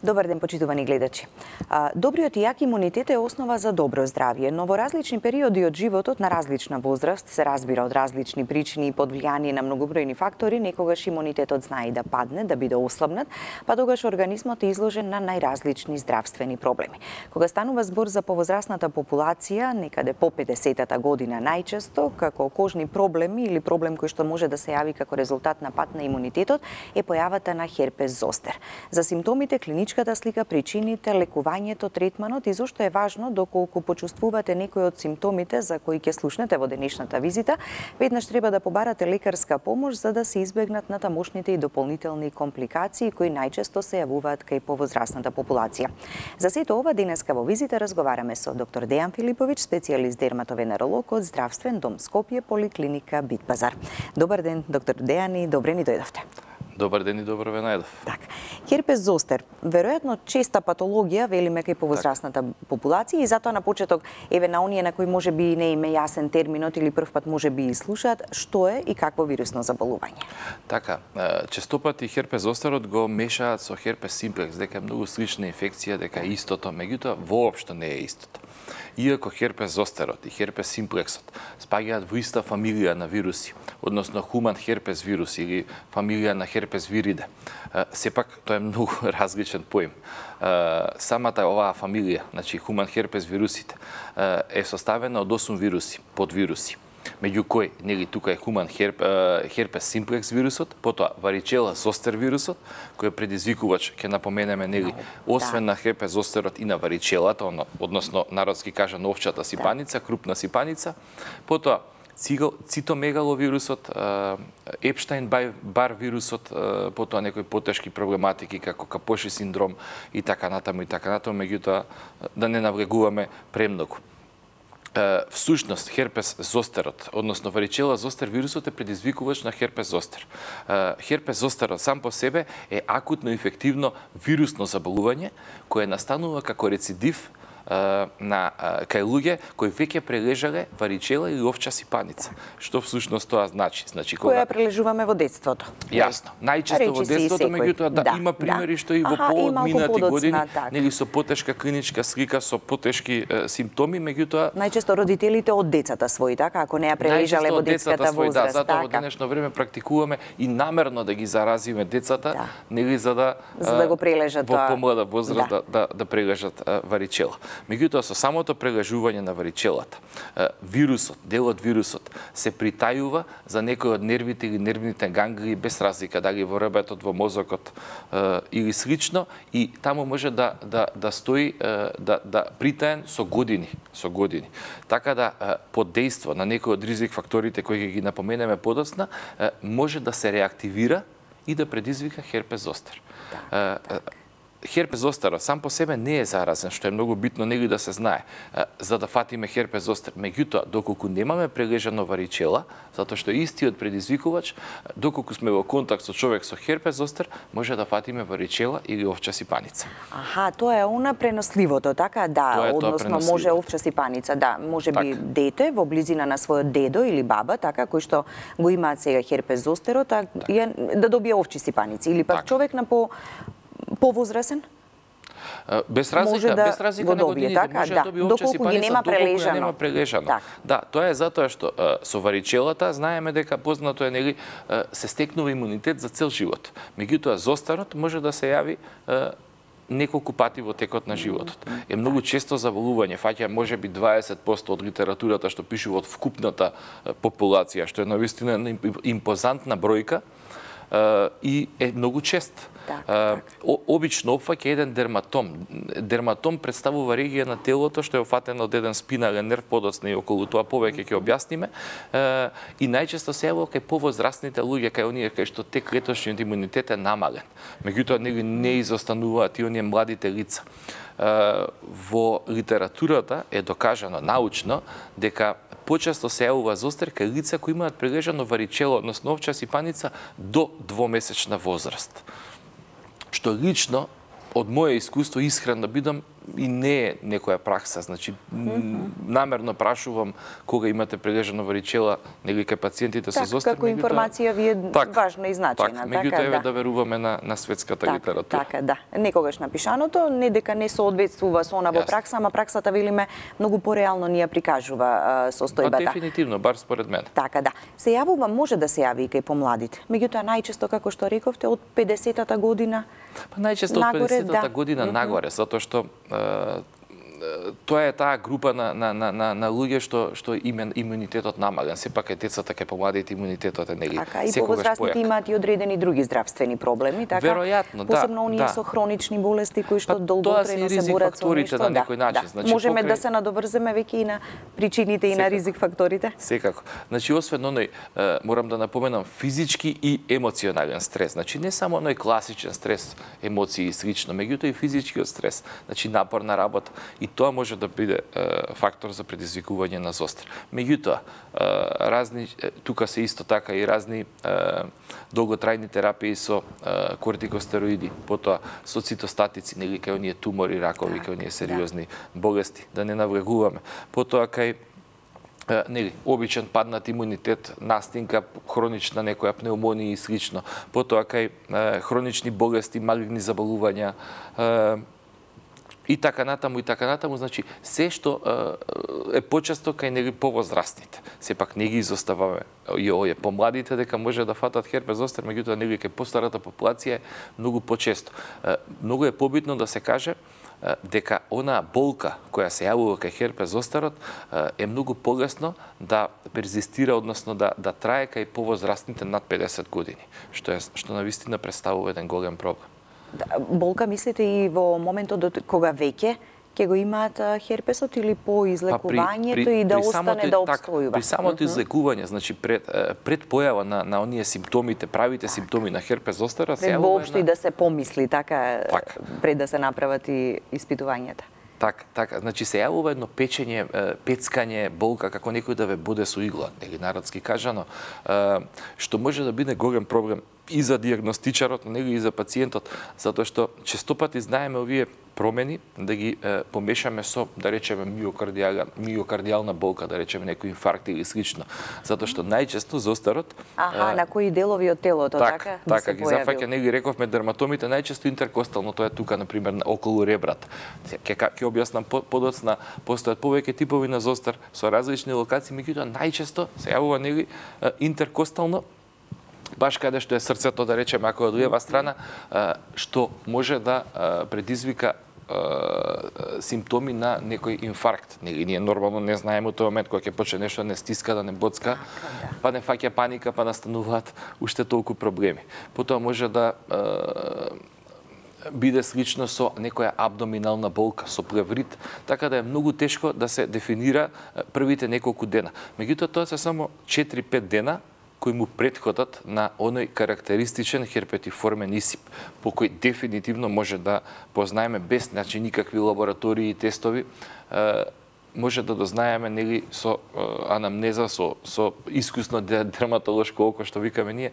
Добар ден, почитувани гледачи. Добриот и јак имунитет е основа за добро здравје, но во различни периоди од животот на различна возраст, се разбира од различни причини и под влијание на многобројни фактори, некогаш имунитетот знае да падне, да биде ослабнат, па тогаш организмот е изложен на најразлични здравствени проблеми. Кога станува збор за повозрасната популација, некаде по 50-та година најчесто, како кожни проблеми или проблем кој што може да се јави како резултат на пат на имунитетот, е појавата на херпес зостер. За симптомите, клиничката слика, причините, лекувањето, третманот и зошто е важно доколку почувствувате некој од симптомите за кои ќе слушнете во денешната визита, веднаш треба да побарате лекарска помош за да се избегнат натамошните и дополнителни компликации кои најчесто се јавуваат кај повозрасната популација. За сето ова денеска во визита разговараме со доктор Дејан Филиповиќ, специјалист дерматовенеролог од Здравствен дом Скопје, поликлиника Битпазар. Добар ден, доктор Дејан, и добре ни дојдовте. Добар ден и добро ве најдов. Така. Херпес зостер, веројатно честа патологија, велиме кај повозрасната популација, и затоа на почеток, еве на оние на кои може би не име јасен терминот или првпат може би и слушаат, што е и какво вирусно заболување? Така, честопати херпес зостерот го мешаат со херпес симплекс, дека е многу слична инфекција, дека е истото, меѓутоа воопшто не е истото. Иако херпес зостерот и херпес симплексот спаѓаат во иста фамилија на вируси, односно хуман херпес вирус или фамилија на херпес вириде, сепак тоа е многу различен поим. Самата оваа фамилија, значи хуман херпес вирусите, е составена од 8 вируси, подвируси, меѓу кои нели тука е хуман херпес симплекс вирусот, потоа варичела зостер вирусот, кој е предизвикувач, ќе напоменеме нели, освен на херпес зостерот и на варичелата, односно народски кажано овчата сипаница, крупна сипаница, потоа цитомегаловирусот, Епштайн-Бар вирусот, потоа некои потешки проблематики како Капоши синдром и така натаму, меѓутоа да не навлегуваме премногу. Всушност, херпес зостерот, односно варичела зостер вирусот е предизвикувач на херпес зостер. Херпес зостерот сам по себе е акутно инфективно вирусно заболување кое настанува како рецидив на кај луѓе кои веќе прележале варичела или овча сипаница. Што всушност тоа значи? Која прележуваме во детството. Јасно. Најчесто во детството, меѓутоа има примери што и во поодминати години, нели со потешка клиничка слика, со потешки симптоми, меѓутоа најчесто родителите од децата своји, така, ако не ја прележале во детската возраст. Да, затоа во денешно време практикуваме и намерно да ги заразиме децата, нели за да го прележат во помлада возраст да прележат варичела. Меѓутоа, со самото прележување на варичелата, вирусот, дел од вирусот, се притајува за некои од нервите или нервните ганглии без разлика дали во ребетот, во мозокот или слично, и таму може да стои да притаен со години. Така да под дејство на некои од ризик факторите кои ги напоменеме подоцна, може да се реактивира и да предизвика херпес зостер. Херпес зостерот сам по себе не е заразен, што е многу битно нели да се знае, за да фатиме херпес зостер. Меѓутоа, доколку немаме прележано варичела, затоа што истиот предизвикувач, доколку сме во контакт со човек со херпес зостер, може да фатиме варичела или овча сипаница. Аха, тоа е она преносливото, така? Да, односно може овча сипаница, да, може би дете во близина на својот дедо или баба, така, кои што го имаат сега херпес зостерот, да добие овчи сипаници, или пак човек на повозрасен? Без разлика на годините, може да добие овча сипаница, доколку ја нема прележано. Да, тоа е затоа што со варичелата знаеме дека познато е нели се стекнува имунитет за цел живот. Меѓутоа зостерот може да се јави неколку пати во текот на животот. Е многу често заболување, фаќа можеби 20% од литературата што пишува од вкупната популација, што е навистина импозантна бројка и е многу чест. Обично опфаќа еден дерматом. Дерматом представува регија на телото што е офатена од еден спинален нерв, подоцна и околу тоа повеќе ќе објасниме. И најчесто се јавува кај повозрастните луѓе, кај оние кај што клеточниот имунитет е намален. Меѓутоа не изостануваат и оние младите лица. Во литературата е докажано научно дека почесто се јавува зостер кај лица кои имаат прележано варичело, односно овча сипаница до 2-месечна возраст. Што лично од моје искуство искрено бидам и не е некоја пракса, значи намерно прашувам кога имате прележано варичела, нели кај пациентите со зостар, како информација ви е важна и значајна, меѓутоа еве да веруваме на светската литература. Така, да. Некогаш напишаното, не дека не соодветствува со она во пракса, ама праксата велиме многу пореално ни ја прикажува состојбата. Дефинитивно, бар според мене. Така, да. Се јавува, може да се јави и кај помладите. Меѓутоа најчесто, како што рековте, од 50-та година најчесто од 50-та година нагоре, затоа што тоа е таа група на луѓе што имунитетот намален. Сепак е децата кај помладите имунитетот е нели секогаш појак. И повозрастните имаат и одредени други здравствени проблеми, така? Веројатно, да. Посебно оние со хронични болести кои што долготрајно се борат со нешто. На некој начин. Значи, можеме да се надоврземе веќе и на причините и на ризик факторите? Секако. Значи, освен оној, морам да напоменам, физички и емоционален стрес. Значи, не само оној класичен стрес, емоции и слично, меѓутоа и физичкиот стрес. Значи, напорна работа. И тоа може да биде фактор за предизвикување на зостар. Меѓутоа, разни, тука се исто така и разни долготрајни терапии со кортикостероиди, потоа со цитостатици, нели кај оние тумори, ракови, кај оние сериозни болести, да не навлегуваме. Потоа кај нели обичен паднат имунитет, настинка, хронична некоја пнеумонија и слично. Потоа кај хронични болести, малигни заболувања, и така натаму, значи се што е почесто кај нели повозрастните. Сепак не ги изоставаме и овие помладите дека може да фатат херпес зостар, меѓутоа нели кај постарата популација е многу почесто. Многу е побитно да се каже дека она болка која се јавува кај херпес зостарот е многу полесно да перзистира, односно да трае кај повозрастните над 50 години, што навистина представува еден голем проблем. Болка мислите и во моментот кога веќе ќе го имаат херпесот или по излекувањето и да остане да обстојува? При самото излекување, значи пред појава на оние симптомите, правите симптоми на херпес зостара се јавува воопшто и да се помисли така пред да се направат и испитувањата. Така, значи се јавува едно печење, пецкање, болка, како некој да ве боде со игла, нели народски кажано, што може да биде голем проблем и за диагностичарот, нели и за пациентот, затоа што честопати знаеме овие промени да ги помешаме со, да речеме, миокардијална болка, да речеме некој инфаркт или слично. Затоа што најчесто зостарот на кои делови од телото така ги зафаќа, нели рековме дерматомите најчесто интеркостално, тоа е тука на пример околу ребрата. Ќе објаснам подоцна, постојат повеќе типови на зостар со различни локации, меѓутоа најчесто се јавува нели интеркостално, баш каде што е срцето, да речеме, ако е од лева страна, што може да предизвика симптоми на некој инфаркт. Ние нормално не знаеме од тој момент кога ќе почне нешто да не стиска, да не боцка, па не фаќа паника, па настануваат уште толку проблеми. Потоа може да биде слично со некоја абдоминална болка, со плеврит, така да е многу тешко да се дефинира првите неколку дена. Меѓутоа, тоа се само 4-5 дена кои му претходат на оној карактеристичен херпетиформен исип, по кој дефинитивно може да познаеме без никакви лаборатории и тестови, може да дознаеме нели со анамнеза, со искусно дерматолошко око, што викаме ние,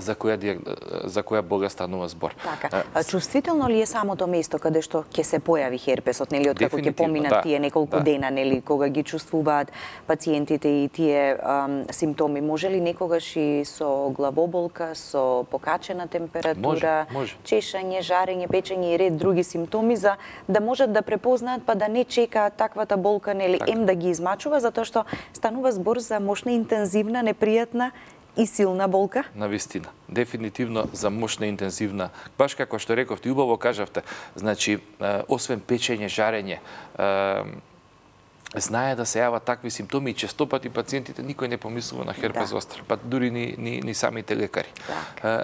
за која болест станува збор. Така. Чувствително ли е самото место каде што ќе се појави херпесот, нели откако ќе поминат тие неколку дена, нели кога ги чувствуваат пациентите и тие симптоми? Може ли некогаш и со главоболка, со покачена температура, чешање, жарење, печење и ред други симптоми за да можат да препознаат па да не чекаат таквата болка, нели да ги измачува, затоа што станува збор за мощна, интензивна, непријатна и силна болка? Навистина. Дефинитивно за мощна, интензивна. Баш како што рековте, убаво кажавте, значи, освен печење, жарење, знае да се јават такви симптоми и честопати пациентите никој не помислува на херпес зостар, па дури ни самите лекари.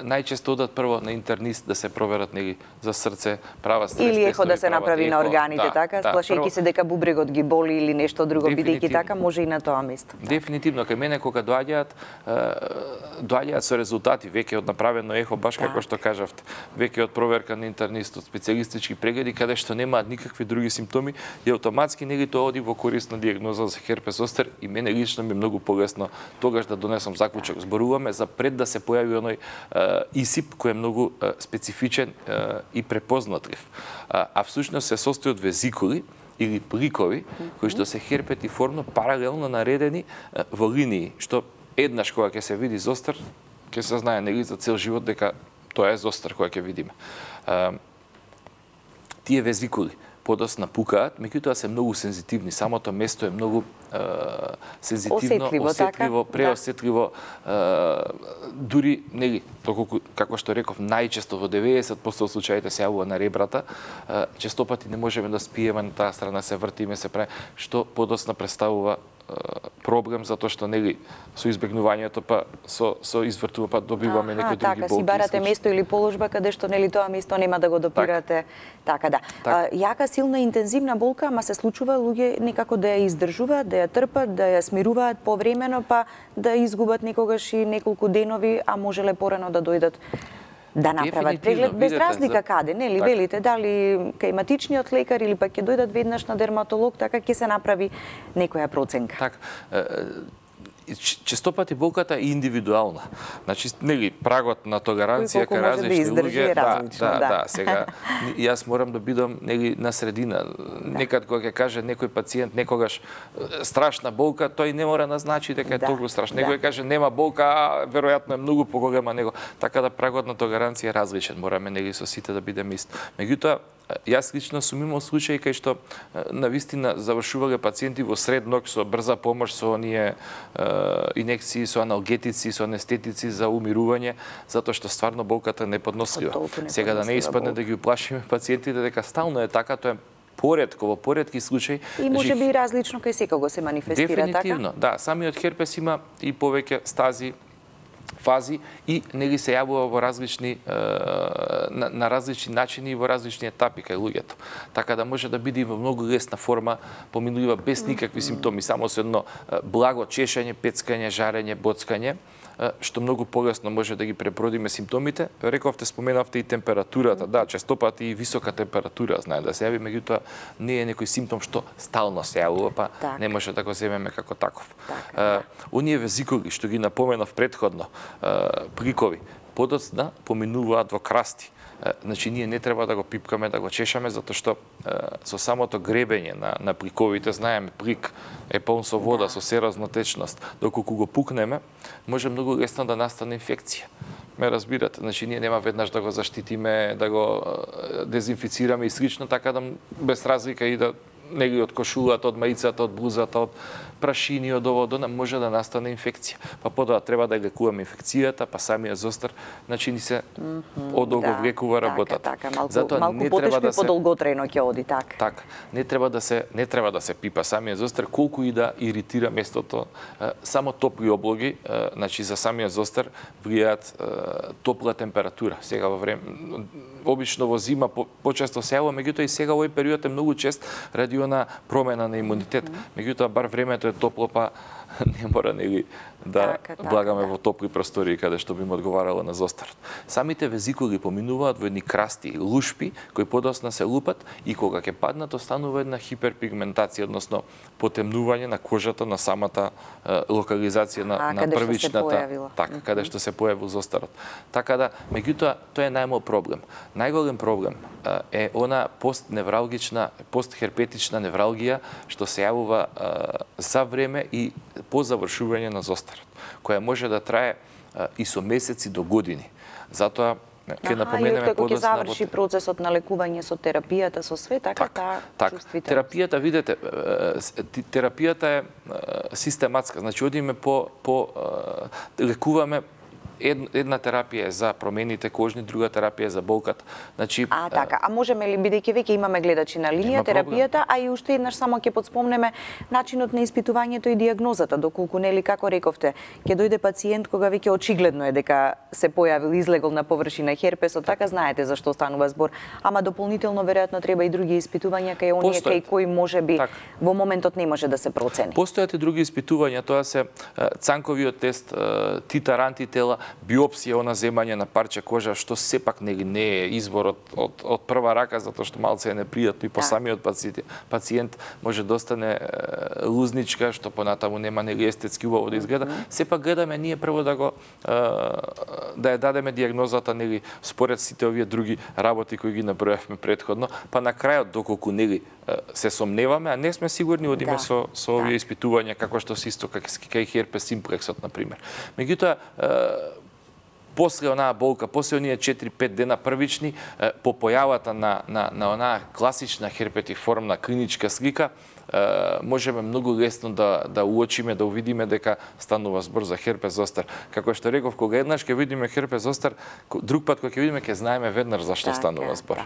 Најчесто одат прво на интернист да се проверат нели за срце, права стрес или ехо да се направи на органите, така, сплашејќи се дека бубрегот ги боли или нешто друго, бидејќи така може и на тоа место. Дефинитивно, кај мене кога доаѓаат доаѓаат со резултати, веќе од направено ехо, баш како што кажавте, веќе од проверка на интернист, од специјалистички прегледи, каде што немаат никакви други симптоми, и автоматски нели тоа оди во корисна дијагноза за херпес зостер, и мене лично ми е многу полесно тогаш да донесам заклучок. Зборуваме за пред да се појави оној ИСИП кој е многу специфичен и препознатлив. А всушност се состои од везикули или пликови, кои што се херпетиформно паралелно наредени во линии, што еднаш кога ќе се види зостер, ќе се знае нели за цел живот дека тоа е зостер која ќе видиме. Тие везикули подоцна пукаат, меѓутоа се многу сензитивни. Самото место е многу сензитивно, осетливо, преосетливо. Дури, нели, доколку, како што реков, најчесто во 90% од случаите се јавува на ребрата, честопати не можеме да спиеме на таа страна, се вртиме, се прави, што подоцна представува проблем, затоа што нели со избегнувањето па со извртува па добиваме некои други болки. Така, си барате место или положба каде што нели тоа место нема да го допирате. Така да. Јака, силна, интензивна болка, ама се случува луѓе некако да ја издржуваат, да ја трпат, да ја смируваат повремено, па да изгубат некогаш и неколку денови, а можеле порано да дојдат да направат преглед, без разлика каде, нели, велите, дали кај матичниот лекар или пак ќе дојдат веднаш на дерматолог, така ќе се направи некоја проценка. Така. Честопати болката е индивидуална. Значи, нели, прагот на толеранција кај различни луѓе, сега јас морам да бидам нели на средина. Некад кога ќе каже некој пациент некогаш страшна болка, тој не мора да значи дека е толку страшно. Некој каже нема болка, веројатно е многу поголема него. Така да прагот на толеранција е различен. Мораме нели со сите да бидеме исто. Меѓутоа, јас лично сум имал случаи кај што навистина завршувале пациенти во сред ног со брза помош, со оние инекции, со аналгетици, со анестетици за умирување, затоа што стварно болката е неподнослива. Сега да не испадне да ги уплашиме пациентите дека стално е така, тоа е поретко, во поретки случаи. И може би различно кај секого се манифестира, така? Дефинитивно, да. Самиот херпес има и повеќе стази, фази и нели се јавува во различни на различни начини и во различни етапи кај луѓето. Така да може да биде во многу лесна форма, поминува без никакви симптоми, само со едно благо чешање, пецкање, жарење, боцкање, што многу полесно може да ги пребродиме симптомите. Рековте, споменавте и температурата, да, честопати и висока температура знае да се јави, меѓутоа не е некој симптом што стално се јавува, па не може да го земеме како таков. Оние везикули што ги напоменав претходно, пликови, подоцна поминуваат во красти. Значи, ние не треба да го пипкаме, да го чешаме, затоа што со самото гребење на пликовите, знаеме, плик е полн со вода, со серозна течност. Доколку го пукнеме, може многу лесно да настане инфекција. Ме разбирате, значи ние нема веднаш да го заштитиме, да го дезинфицираме и слично, така да без разлика и да нели од кошулата, од маицата, од блузата, од прашини, од ово, може да настане инфекција. Па подоа треба да лекуваме инфекцијата, па самиот зостер, значи ни се одолговлекува работата. Малку потешко и подолготрајно ќе оди, така. Така. Не треба да се пипа самиот зостер, колку и да иритира местото. Само топли облоги, значи за самиот зостер влијаат топла температура. Сега во време обично во зима почесто се јавува, меѓутоа и сега овој период е многу чест ради она промена на имунитет. Меѓутоа бар времето е топло, па не мора нели да влагаме во топли простори каде што би му одговарало на зостарот. Самите везикули поминуваат во едни красти, лушпи, кои подоцна се лупат и кога ќе паднат останува една хиперпигментација, односно потемнување на кожата на самата локализација на првичната, така, каде што се појавил зостарот. Така да, меѓутоа, тоа е најмал проблем. Најголем проблем е она постневралгична, постхерпетична невралгија што се јавува за време и по завршување на зостарот, која може да трае и со месеци до години. Затоа ќе напоменеме подоцна. Ќе заврши процесот на лекување со терапијата, со све, така чувствителност. Терапијата, видете, терапијата е систематска, значи одиме лекуваме една терапија е за промените кожни, друга терапија е за болката. Значи така, а можеме ли, бидејќи веќе имаме гледачи на линија, терапијата, а и уште еднаш само ќе подспомнеме начинот на испитувањето и дијагнозата, доколку нели како рековте, ќе дојде пациент кога веќе очигледно е дека се појавил, излегол на површина херпесот, така знаете за што станува збор, ама дополнително веројатно треба и други испитувања кај оние кај кои можеби во моментот не може да се процени. Постојат и други испитувања, тоа се цанковиот тест, титар антитела, биопсија, она земање на парче кожа, што сепак не е избор од прва рака, затоа што малце е непријатно и по самиот пациент може да остане лузничка, што понатаму нема нели естетски убаво да изгледа. Сепак гледаме ние прво да ја дадеме дијагнозата нели според сите овие други работи кои ги набројавме претходно, па на крајот доколку нели се сомневаме, а не сме сигурни, одиме со овие испитувања како што се исто кај херпес симплексот на пример. Меѓутоа после онаа болка, после оние 4-5 дена првични, по појавата на онаа класична херпетиформна клиничка слика, можеме многу лесно да уочиме, да увидиме дека станува збор за херпес зостар. Како што реков, кога еднаш ќе видиме херпес зостар, друг пат кога ќе видиме ќе знаеме веднаш за што станува збор.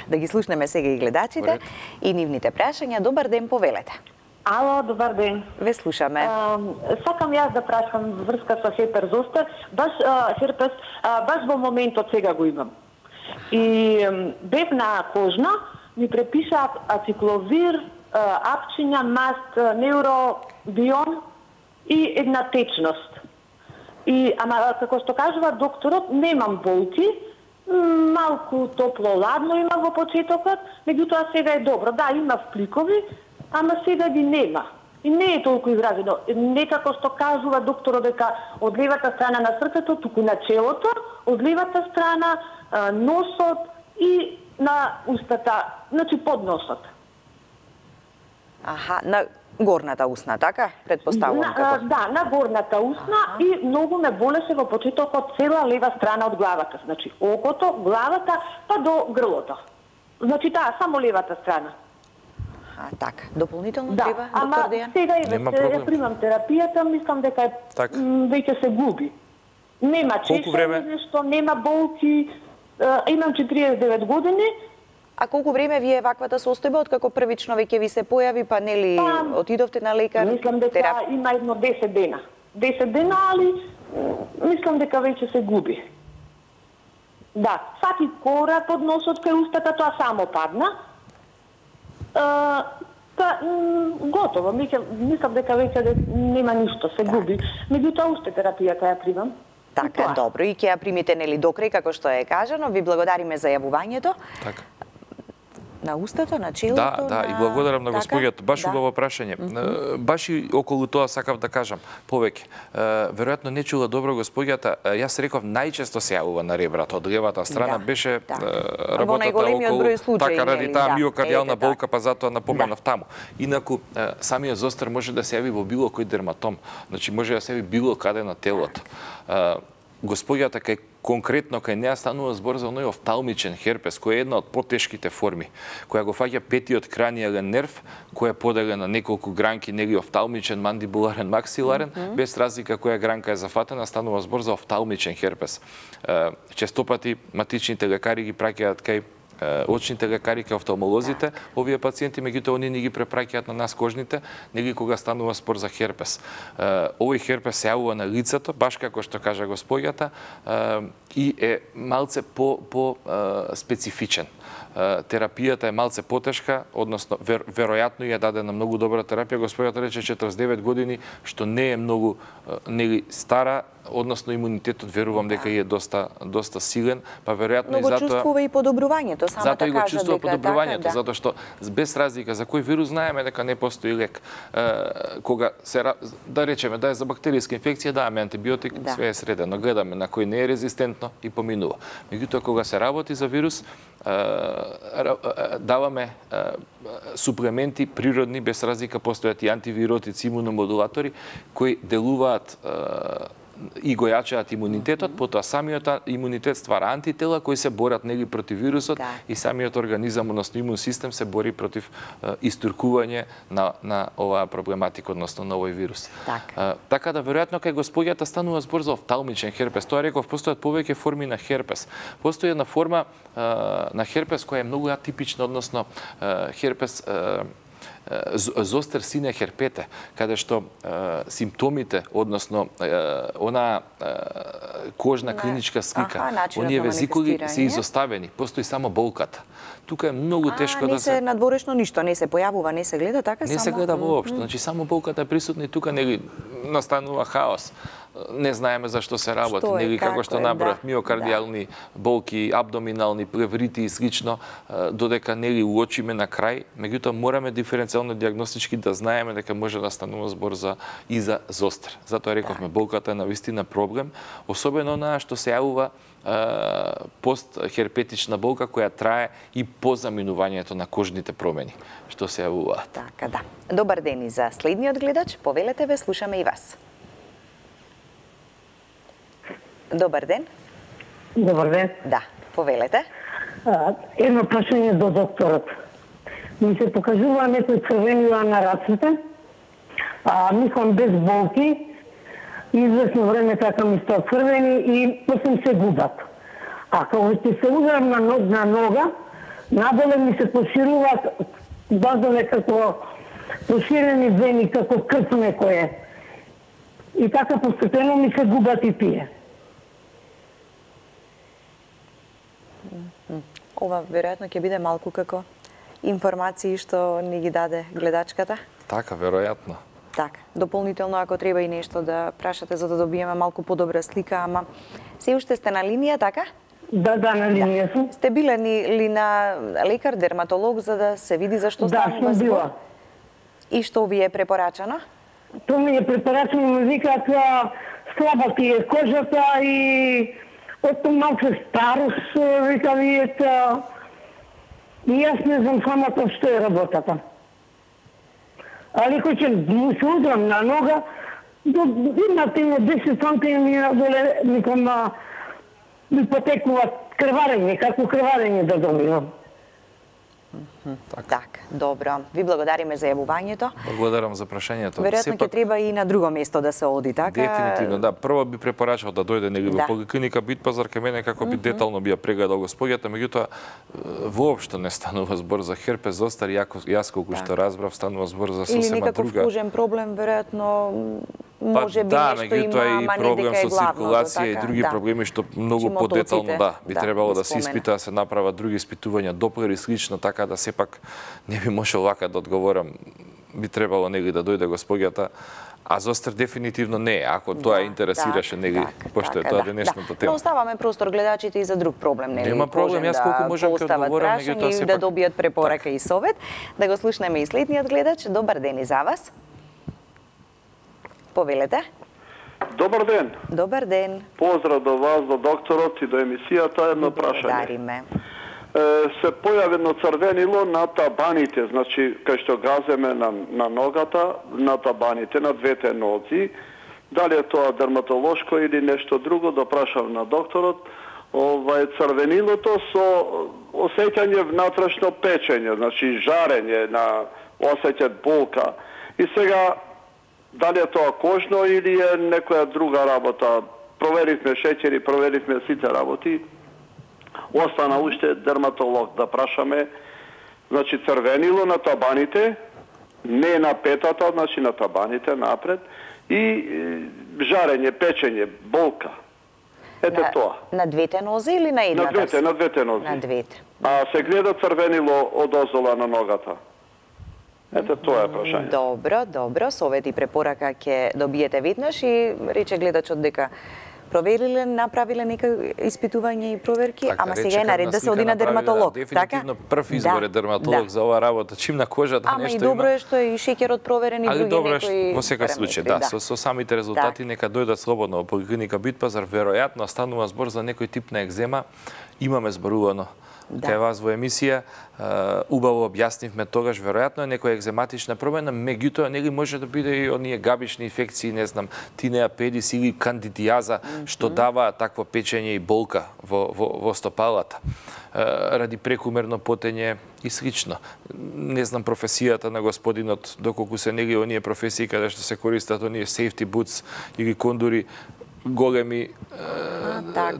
Да ги слушнеме сега и гледачите и нивните прашања. Добар ден, повелете. Ало, добар ден. Ве слушаме. Сакам јас да прашам врска со херпес зостар, херпес, баш во моментот сега го имам. И бев на кожна, ми препишаат ацикловир, апчиња, маст, неуробион и една течност. Ама како што кажува докторот, немам болки, малку топло-ладно има во почетокот, меѓутоа сега е добро. Да, има впликови, ама сега ги нема. И не е толку изразено. Некако што кажува докторот дека од левата страна на срцето, туку на челото, од левата страна носот и на устата, значи под носот. На горната усна, така? Предпоставувам како. Да, на горната усна и многу ме болеше во почетокот цела лева страна од главата. Значи окото, главата, па до грлото. Значи само левата страна. Така, дополнително треба, доктор Дејан? Сега ја примам терапијата, мислам дека веќе се губи. Нема чешење, нешто, нема болки, имам 49 години. А колку време ви е ваквата состојба, откако првично веќе ви се појави, па нели отидовте на лекар? Мислам дека има едно 10 дена. 10 дена, али мислам дека веќе се губи. Да, саки кора под носот кај устата, тоа само падна. Готово, мислам дека веќе нема ништо, се губи. Меѓутоа уште терапијата ја примам. Така, добро, и ќе ја примите нели до крај, како што е кажано. Ви благодариме за јавувањето. Така. На устата, на челото, Да, и благодарам на господјата. Баш убаво прашање. Баш и околу тоа сакав да кажам повеќе. Веројатно не чула добро господјата. Јас реков најчесто се јавува на ребрата од левата страна, беше работата околу така ради таа миокардијална болка, па затоа напоменав таму. Инаку самиот зостар може да се јави во било кој дерматом. Значи може да се јави било каде на телото. Господјата конкретно кај неа станува збор за оној офталмичен херпес, кој е една од потешките форми, која го фаќа петиот кранијален нерв, која е поделен на неколку гранки, нели офталмичен, мандибуларен, максиларен, без разлика која гранка е зафатена, станува збор за офталмичен херпес. Честопати матичните лекари ги праќаат кај очните лекари, кај офталмолозите, овие пациенти, меѓутоа они не ги препраќаат на нас кожните, нели кога станува спор за херпес. Овој херпес се јавува на лицето, баш како што кажа господјата, и е малце по специфичен. Терапијата е малце потешка, односно веројатно ја даде на многу добра терапија. Господјата рече 49 години, што не е многу нели стара, односно имунитетот верувам дека е доста силен, па веројатно и затоа чувствува и подобрувањето, самата кажа дека. Затоа и го чувствува подобрувањето, затоа што без разлика за кој вирус знаеме дека не постои лек. Кога се да речеме да е за бактеријска инфекција, даваме антибиотик, све е средено, гледаме на кој не е резистентно и поминува. Меѓутоа кога се работи за вирус, даваме суплементи природни, без разлика постојат и антивиротици, имуномодулатори кои делуваат и го јачаат имунитетот, потоа самиот имунитет ствара антитела кои се борат нели против вирусот и самиот организам, односно имун систем се бори против истуркување на оваа проблематика, односно на овој вирус. Така да веројатно кај господјата станува збор за офталмичен херпес. Тоа реков, постојат повеќе форми на херпес. Постои една форма на херпес која е многу атипична, односно херпес зостер сине херпете, каде што симптомите, односно она кожна клиничка слика, оние везикули се изоставени, постои само болката. Тука е многу тешко да се... Не се надворешно ништо, не се појавува, не се гледа така? Не се гледа воопшто, значи само болката е присутна и тука нели настанува хаос. Не знаеме зашто се работи, нели како што набрав миокардијални болки, абдоминални, плеврити и слично, додека нели уочиме на крај, меѓутоа мораме диференцијално дијагностички да знаеме дека може да станува збор за зостер. Затоа рековме болката е навистина проблем, особено онаа што се јавува постхерпетична болка која трае и по заминувањето на кожните промени што се јавуваат. Така да. Добар ден и за следниот гледач, повелете ве, слушаме и вас. Добар ден. Добар ден. Да, повелете. Едно прашање до докторот. Ми се покажува некои црвенила на раците, мислам без болки, известно време така ми стаат црвени и после се губат. А кога ќе се ударам на нога, надоле ми се пошируваат баш некако поширени вени, како крв некое. И така постепено ми се губат и тие. Ова веројатно ќе биде малку како информации што ни ги даде гледачката. Така, веројатно. Така, дополнително ако треба и нешто да прашате за да добиеме малку подобра слика, ама се уште сте на линија, така? Да, на линија сум. Сте биле ли на лекар, дерматолог за да се види зашто станува збор? Да, сум била. И што ви е препорачано? Тоа ми е препорачано, ми викаат слаба ти е кожата и Ото малко старост, вика вијата, и јас не знам самата што е работата. Али кој ќе му се удрам на нога, имате 10 сантими надоле, ником ми потекнува крварење, како крварење да добивам. Так, добро. Ви благодариме за јавувањето. Благодарам за прашањето. Веројатно ќе треба и на друго место да се оди, така? Дефинитивно, да. Прво би препорачал да дојде нели во поликлиника Битпазар кај мене како би детално би ја прегледал господјата, меѓутоа воопшто не станува збор за херпес зостер, јас колку што разбрав станува збор за сосема друга. Или некаков кожен проблем, веројатно може би нешто има, ама не дека е главното, циркулација и други проблеми што многу подетално би требало да се испита, да се направат други испитувања, доплер и слично, така да сепак не би можел вака да одговорам. Би требало нели да дојде господјата, а зостер дефинитивно не е, ако тоа интересираше нели, пошто е тоа денешната тема. Но оставаме простор гледачите и за друг проблем, нели? Нема проблем, јас колку можам ќе одговорам, меѓутоа сепак да добијат препорака и совет. Да го слушнеме и следниот гледач. Добар ден и за вас. Повелете. Добар ден. Добар ден. Поздрав до вас, до докторот и до емисијата, едно прашање. Благодариме. Се појави едно црвенило на табаните, значи кај што газеме на ногата, на табаните, на двете нози. Дали е тоа дерматолошко или нешто друго, да прашам на докторот. Црвенилото со осеќање внатрешно печење, значи жарење, осеќаат болка. И сега дали е тоа кожно или е некоја друга работа? Проверивме шеќери, проверивме сите работи. Остана уште дерматолог да прашаме. Значи црвенило на табаните, не на петата, значи на табаните напред, и жарење, печење, болка. Ете тоа. На двете нози или на едната? На двете нози. На двете. А се гледа црвенило одозола на ногата. Ете тоа е прашање. Добро, совет и препорака ќе добиете веднаш и рече гледачот дека провериле, направиле нека испитување и проверки, ама сега е наред да се оди на дерматолог. Дефинитивно прв избор е дерматолог за оваа работа. Чим на кожата нешто има. Ама и добро е што и шеќерот проверен и други некои. Добро е во секој случај, да, со самите резултати нека дојдат слободно во поликлиника Битпазар, веројатно станува збор за некој тип на екзема. Имаме зборувано кај вас во емисија, убаво објаснивме тогаш, веројатно е некоја екзематична промена, меѓутоа нели може да биде и оние габични инфекции, не знам, тинеа педис или кандидијаза, што дава такво печење и болка во стопалата, ради прекумерно потење и слично. Не знам професијата на господинот, доколку се нели оние професии каде што се користат оние safety boots или кондури, големи,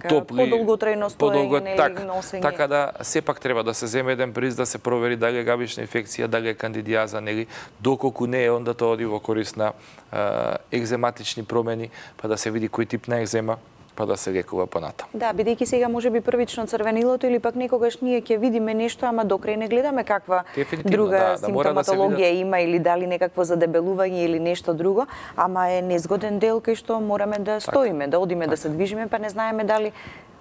топли, подолготрајно стоење или носење. Така да сепак треба да се земе еден приз да се провери дали е габична инфекција, дали е кандидијаза, нели, доколку не е, онда тоа оди во корист на екзематични промени, па да се види кој тип на екзема, па да се лекува понатаму. Да, бидејќи сега можеби првично црвенилото или пак некогаш ние ќе видиме нешто, ама докрај не гледаме каква друга симптоматологија има или дали некакво задебелување или нешто друго, ама е незгоден дел кај што мораме да стоиме, да одиме, да се движиме, па не знаеме дали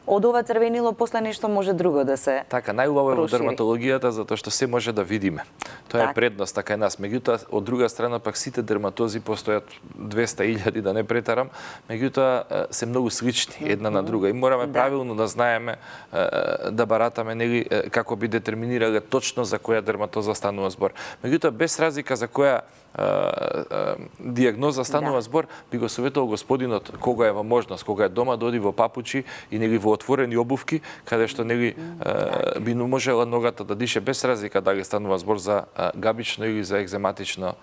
од ова црвенило после нешто може друго да се Така, најубаво е во дерматологијата затоа што се може да видиме. Тоа е предноста кај нас. Меѓутоа, од друга страна пак сите дерматози постојат 200.000 да не претарам, меѓутоа се многу слични една на друга и мораме правилно да знаеме да баратаме нели како би детерминирале точно за која дерматоза станува збор. Меѓутоа без разлика за која дијагноза станува збор, би го советувал господинот кога е во можност, кога е дома да оди во папучи и нели во отворени обувки, каде што нели би можела ногата да дише без разлика дали станува збор за габично или за екзематично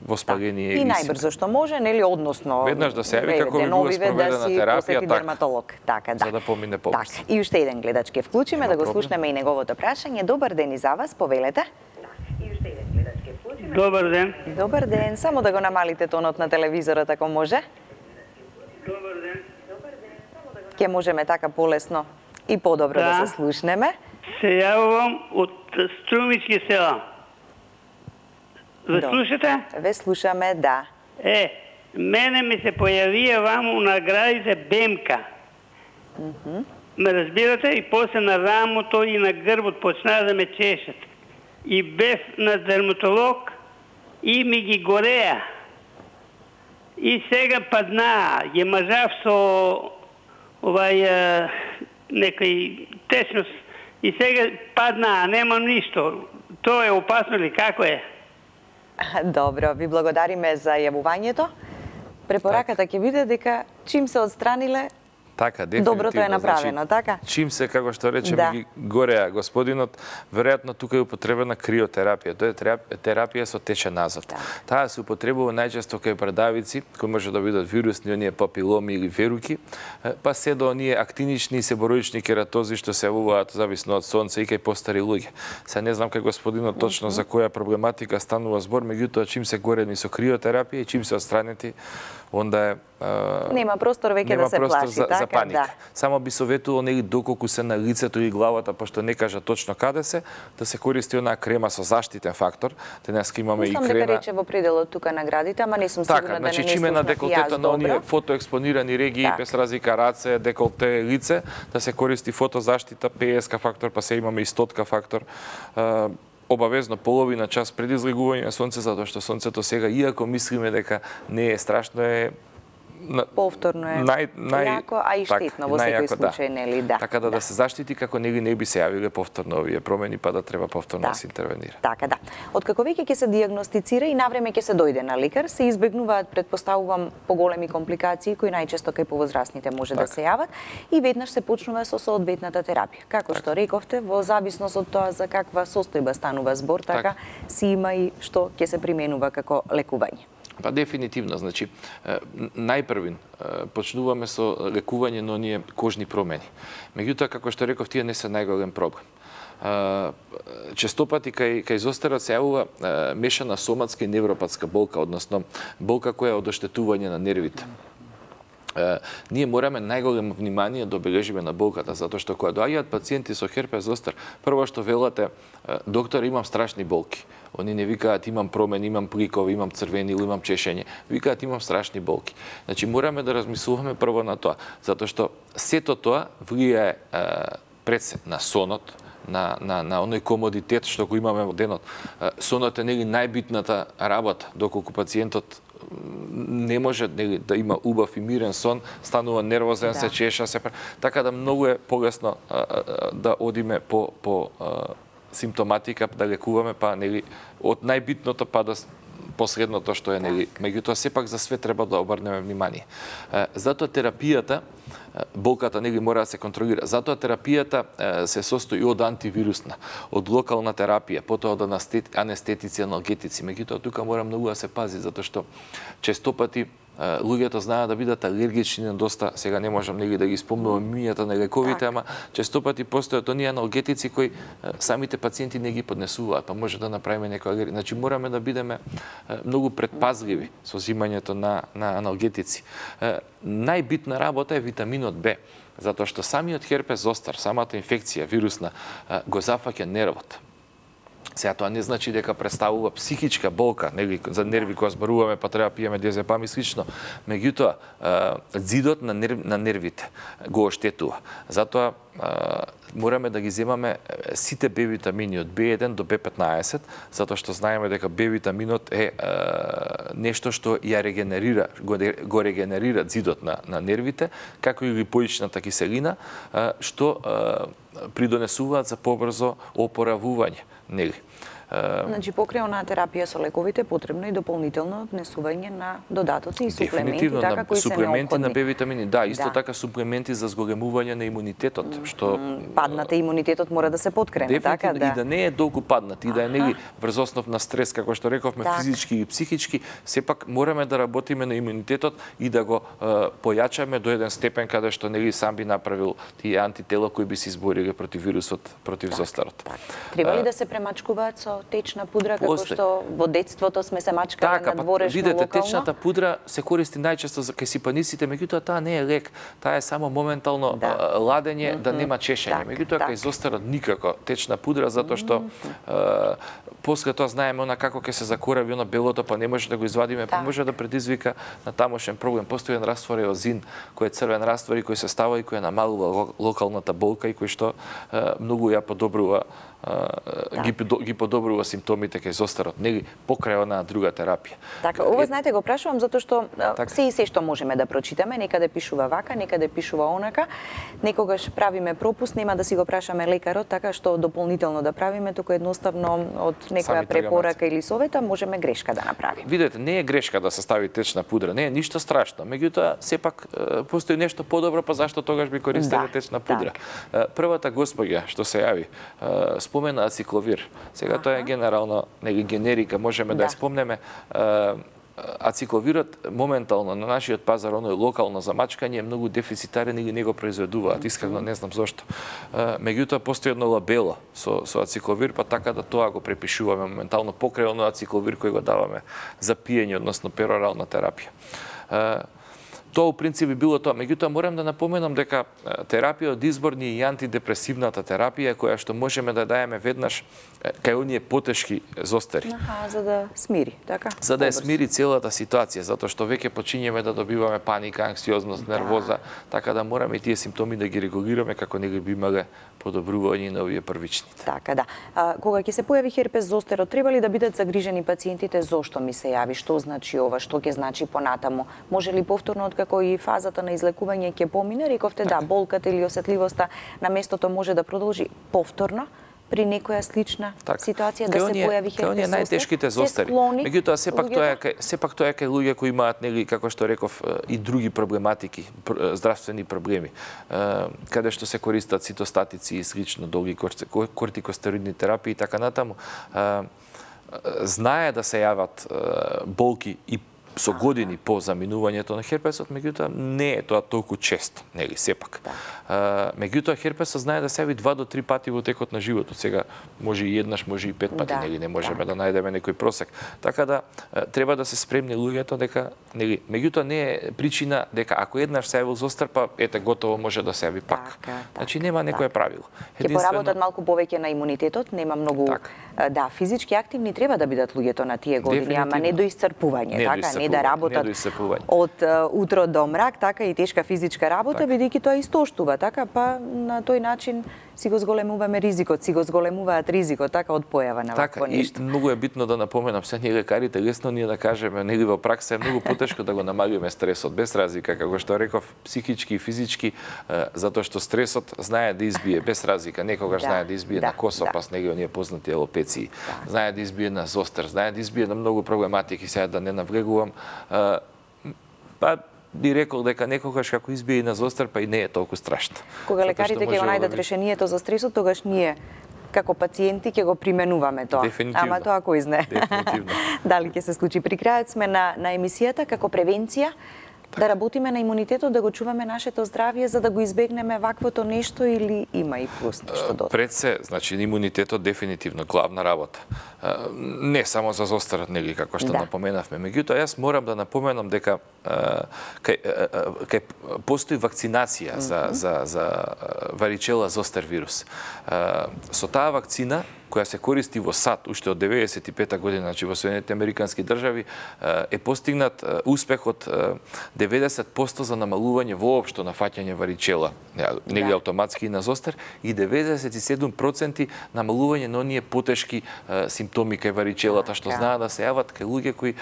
воспаление. И најбрзо што може, нели, односно веднаш да се јави како би била спроведена терапија, дерматолог. Така, за да помине побрзо. И уште еден гледач ќе вклучиме да го слушнеме и неговото прашање. Добар ден и за вас, повелете. Добар ден. Добар ден. Само да го намалите тонот на телевизорот ако може. Добар ден. Ке можеме така полесно и подобро да се слушнеме. Се јавувам од Струмички села. Ве слушате? Ве слушаме, да. Мене ми се појавија ваму наградите БМК. Ме разбирате? И после на рамото и на грбот почнаа да ме чешат. И бев на дерматолог и ми ги гореа. И сега паднаа. Ја мажав со некој течност. И сега паднаа, немам ништо. Тоа е опасно ли? Како е? Добро, ви благодариме за јавувањето. Препораката ќе биде дека чим се отстраниле, така, дефинитивно. Доброто е направено, така? Чим се, како што речеме, ги гореа господинот, веројатно тука е употребена криотерапија. Тоа е терапија со течен азот. Таа се употребува најчесто кај брадавици, кои може да бидат вирусни, оние папиломи или веруки, па се до оние актинични и себороични кератози што се јавуваат зависно од сонце и кај постари луѓе. Се не знам кај господинот точно за која проблематика станува збор, меѓутоа чим се горени со криотерапија и чим се отстранети, онда е нема простор веќе да се плаши, за паника. Само би советувал нели доколку се на лицето и главата, пошто не кажа точно каде се, да се користи онаа крема со заштитен фактор. Денеска имаме и крема. Мислам дека рече во пределот тука наградите, ама не сум сигурна да не значи чиме на деколтета на оние фотоекспонирани регии, без разлика раце, деколте, лице, да се користи фотозаштита, ПСК фактор, па се имаме и 100 фактор. Обавезно половина час преди излегување на сонце, затоа што сонцето сега, иако мислиме дека не е страшно, е повторно е јако, а и штетно во секој случај, нели, да. Така да се заштити како нели не би се јавиле повторно овие промени, па да треба повторно да се интервенира. Така да. Откако веќе ќе се дијагностицира и навреме ќе се дојде на лекар, се избегнуваат, претпоставувам, поголеми компликации кои најчесто кај повозрастните може да се јават и веднаш се почнува со соодветната терапија. Како што рековте, во зависност од тоа за каква состојба станува збор, така си има и што ќе се применува како лекување. Па дефинитивно, значи, најпрвин почнуваме со лекување на оние кожни промени. Меѓутоа, како што реков, тие не се најголем проблем. Честопати кај зостарот се јавува мешана соматска и невропатска болка, односно болка која е од оштетување на нервите. ние мораме најголемо внимание да обележиме на болката, затоа што кога доаѓаат пациенти со херпес зостер, прво што велате, доктор, имам страшни болки. Они не викаат имам промени, имам пликови, имам црвени или имам чешење. Викаат имам страшни болки. Значи мораме да размислуваме прво на тоа, затоа што сето тоа влијае пред на сонот, на оној комодитет што го имаме во денот. Сонот е нели најбитната работа, доколку пациентот не може да има убав и мирен сон, станува нервозен, се чеша, така да многу е полесно да одиме по симптоматика, да лекуваме, па нели од најбитното па до последното што е нели. Меѓутоа сепак за све треба да обрнеме внимание. Затоа терапијата, болката нели мора да се контролира. Затоа терапијата се состои од антивирусна, од локална терапија, потоа од анестетици, аналгетици. Меѓутоа тука мора многу да се пази, затоа што често пати луѓето знаат да бидат алергични на доста, сега не можам нели да ги спомнувам имињата на лековите, ама често пати постојат оние аналгетици кои самите пациенти не ги поднесуваат, па може да направиме некоја алергија. Значи мораме да бидеме многу предпазливи со взимањето на аналгетици. Најбитна работа е витаминот Б, затоа што самиот херпес зостер, самата инфекција вирусна го зафаќа нервот. Сега тоа не значи дека представува психичка болка, нели за нерви кога зборуваме, па треба пиеме диазепам и слично. Меѓутоа, зидот на нервите го оштетува. Затоа мораме да ги земаме сите Б витамини од B1 до B15, затоа што знаеме дека Б витаминот е нешто што ја регенерира, го регенерира зидот на нервите, како и липоичната киселина, што придонесуваат за побрзо опоравување, нели? Значи, покрај онаа терапија со лековите, потребно и дополнително внесување на додатоци и суплементи, така кои се неопходни. Суплементи на Б витамини, да, исто така суплементи за зголемување на имунитетот, што паднате имунитетот мора да се подкрене, така да. И да не е долго паднат, и да е нели врз основ на стрес, како што рековме, физички и психички, сепак мораме да работиме на имунитетот и да го појачаме до еден степен каде што нели сам би направил тие антитела кои би се избориле против вирусот, против зостарот. Треба ли да се премачкуваат со течна пудра, како што во детството сме се мачкале на дворешно локално? Видете, течната пудра се користи најчесто за кај сипаниците, меѓутоа таа не е лек, таа е само моментално ладење да нема чешење. Меѓутоа кај зостарот никако течна пудра, затоа што после тоа знаеме она како ќе се закорави она белото, па не може да го извадиме, па може да предизвика на тамошен проблем. Постои еден раствор еозин, кој е црвен раствор и кој се става и кој намалува локалната болка и кој што многу ја подобрува ги подобрува симптомите кај зостарот, нели покрај онаа друга терапија. Така, ова знаете го прашувам затоа што се и се што можеме да прочитаме, некаде пишува вака, некаде пишува онака. Некогаш правиме пропуст, нема да си го прашаме лекарот, така што дополнително да правиме, туку едноставно од некоја препорака или совета можеме грешка да направиме. Видете, не е грешка да се стави течна пудра, не е ништо страшно. Меѓутоа, сепак постои нешто подобро, па зашто тогаш би користеле течна пудра. Првата госпоѓа што се јави спомена ацикловир. Сега тоа е генерално, нели генерика, можеме да ја спомнеме. Ацикловирот моментално на нашиот пазар, оној локално за мачкање, е многу дефицитарен или не го произведуваат. Искрено не знам зошто. Меѓутоа постои едно лабело со ацикловир, па така да тоа го препишуваме моментално покрај оној ацикловир кој го даваме за пиење, односно перорална терапија. Тоа у принцип би било тоа. Меѓутоа морам да напоменам дека терапија од избор ни е и антидепресивната терапија која што можеме да даеме веднаш кај оние потешки зостари. За да смири, така? За да ја смири целата ситуација, затоа што веќе почињеме да добиваме паника, анксиозност, нервоза, така да мораме тие симптоми да ги регулираме како нели би имале подобрување на овие првични. Така, да. Кога ќе се појави херпес зостерот, треба ли да бидат загрижени пациентите зошто ми се јави, што значи ова, што ќе значи понатаму? Може ли повторно откако и фазата на излекување ќе помине? Рековте да, болката или осетливоста на местото може да продолжи повторно при некоја слична ситуација да се појави херпес зостер? Кај оние најтешките зостари. Меѓутоа сепак тоа е кај луѓе кои имаат нели како што реков и други проблематики, здравствени проблеми, каде што се користат цитостатици и слично, долги кортикостероидни терапии и така натаму. Знае да се јават болки и со години по заминувањето на херпесот, меѓутоа не е тоа толку често, нели, сепак. Меѓутоа херпесот знае да се јави 2 до 3 пати во текот на животот. Сега може и еднаш, може и 5 пати, нели, не можеме да најдеме некој просек. Така да треба да се спремни луѓето дека, нели, меѓутоа не е причина дека ако еднаш се јавил зостар, па ете готово може да се јави пак. Значи нема некое правило. Ќе поработат малку повеќе на имунитетот, нема многу физички активни треба да бидат луѓето на тие години, ама не до исцрпување, така, не да работат од утро до мрак, така и тешка физичка работа, бидејќи тоа истоштува, така, па на тој начин си го зголемуваме ризикот, си го зголемуваат ризикот, така, од појава на вакво нешто. Така, и многу е битно да напоменам, се ние лекарите, лесно ние да кажеме, нели во пракса е многу потешко да го намалиме стресот, без разлика, како што реков, психички и физички, затоа што стресот знае да избие, без разлика, некогаш знае да избие на косопас, нели оние познати алопеции, знае да избие на зостар, знае да избие на многу проблематики, сега да не навлегувам, па би рекол дека некогаш како избие и на зостар, па и не е толку страшно. Кога лекарите ќе го најдат решението за стресот, тогаш ние како пациенти ќе го применуваме тоа. Ама тоа кој знае. Дефинитивно. Дали ќе се случи? При крајот сме на емисијата како превенција, да работиме на имунитетот, да го чуваме нашето здравје за да го избегнеме ваквото нешто или има и плюс нешто додатно? Пред се, значи имунитетот дефинитивно главна работа. Не само за зостарот, нели, како што напоменавме. Меѓутоа, јас морам да напоменам дека кај постои вакцинација за варичела зостар вирус. Со таа вакцина која се користи во САД уште од 95-та година, значи во Соединетите Американски држави, е постигнат успех од 90% за намалување воопшто на фаќање варичела, нели автоматски и на зостар, и 97% намалување на оние потешки симптоми кај варичелата, што знаат да се јават кај луѓе кои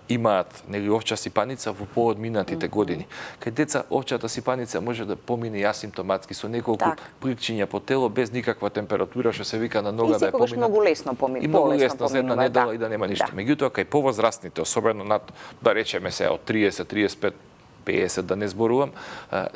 имаат нели овча сипаница во поодминатите години. Кај деца овчата сипаница може да помине асимптоматски со неколку пликчиња по тело без никаква температура, што се вика на нога да секогаш многу лесно поминува. И многу лесно за една недела и да нема ништо. Меѓутоа, кај повозрастните, особено над, да речеме се, од 30, 35, 50, да не зборувам,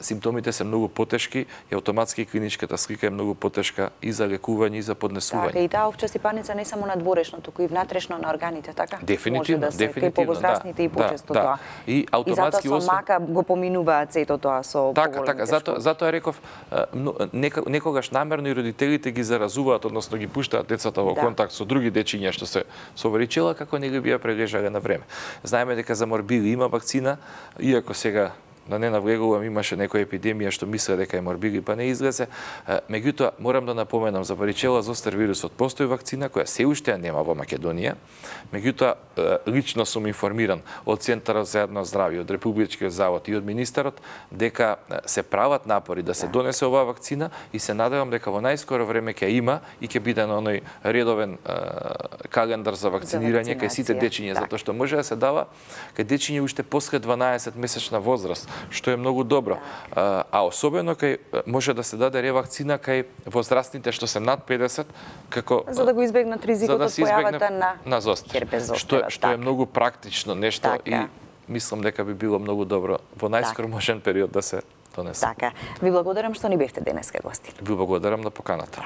симптомите се многу потешки и автоматски клиничката слика е многу потешка и за лекување и за поднесување. Така, и таа овча сипаница не само надворешно, туку и внатрешно на органите, така? Дефинитивно, може да се, кај повозрастните и почесто тоа. И автоматски затоа со мака го поминуваат сето тоа со Така, затоа реков, некогаш намерно и родителите ги заразуваат, односно ги пуштаат децата во контакт со други дечиња што се со варичела, како не ги бија прележале на време. Знаеме дека за морбили има вакцина, иако сега да не навлегувам, имаше некоја епидемија што мислеа дека е морбили, па не излезе. Меѓутоа, морам да напоменам, за варичела зостар вирусот постои вакцина која се уште нема во Македонија. Меѓутоа, лично сум информиран од Центарот за јавно здравје, од Републичкиот завод и од министерот дека се прават напори да се донесе оваа вакцина и се надевам дека во најскоро време ќе има и ќе биде на оној редовен календар за вакцинирање кај сите дечиња, затоа што може да се дава кај дечиња уште после 12 месечна возраст, што е многу добро. А особено кај може да се даде ревакцина кај возрастните што се над 50, како за да го избегнат ризикот од појавата на зостар, што е многу практично нешто и мислам дека би било многу добро во најскоро можен период да се донесе. Така. Ви благодарам што ни бевте денеска гости. Ви благодарам на поканата.